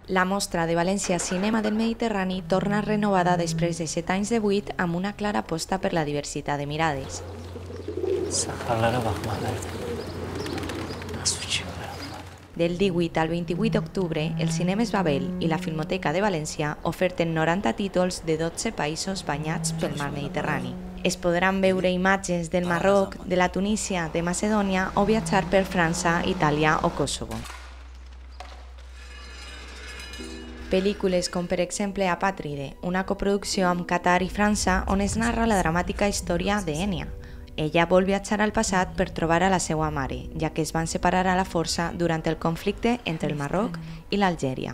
La mostra de València Cinema del Mediterrani torna renovada després de 7 anys de buit amb una clara aposta per la diversitat de mirades. Del 18 al 28 d'octubre, el Cinemes Babel i la Filmoteca de València oferten 90 títols de 12 països banyats pel mar Mediterrani. Es podran veure imatges del Marroc, de la Tunísia, de Macedònia o viatjar per França, Itàlia o Kosovo. Pel·lícules com per exemple Apàtride, una coproducció amb Qatar i França on es narra la dramàtica història d'Ènia. Ella vol viatjar al passat per trobar a la seva mare, ja que es van separar a la força durant el conflicte entre el Marroc i l'Algèria.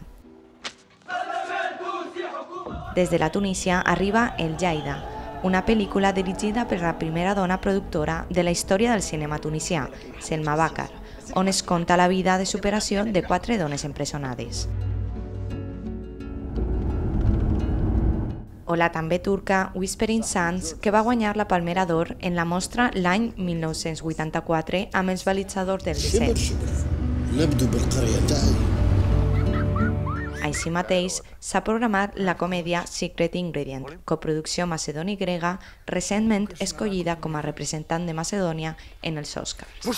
Des de la Tunísia arriba El Jaida, una pel·lícula dirigida per la primera dona productora de la història del cinema tunisià, Selma Bakar, on es conta la vida de superació de 4 dones empresonades. O la també turca Whispering Sands, que va guanyar la Palmera d'Or en la mostra l'any 1984 amb els balitzadors del Liceu. Així mateix, s'ha programat la comèdia Secret Ingredient, coproducció macedoni-grega, recentment escollida com a representant de Macedònia en els Oscars.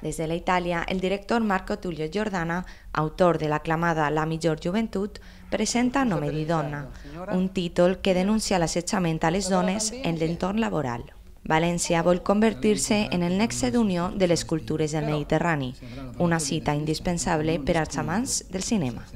Des de la Itàlia, el director Marco Tullio Giordana, autor de l'aclamada La millor joventut, presenta Nome di donna, un títol que denuncia l'assetjament a les dones en l'entorn laboral. València vol convertir-se en el nexe d'unió de les cultures del Mediterrani, una cita indispensable per als amants del cinema.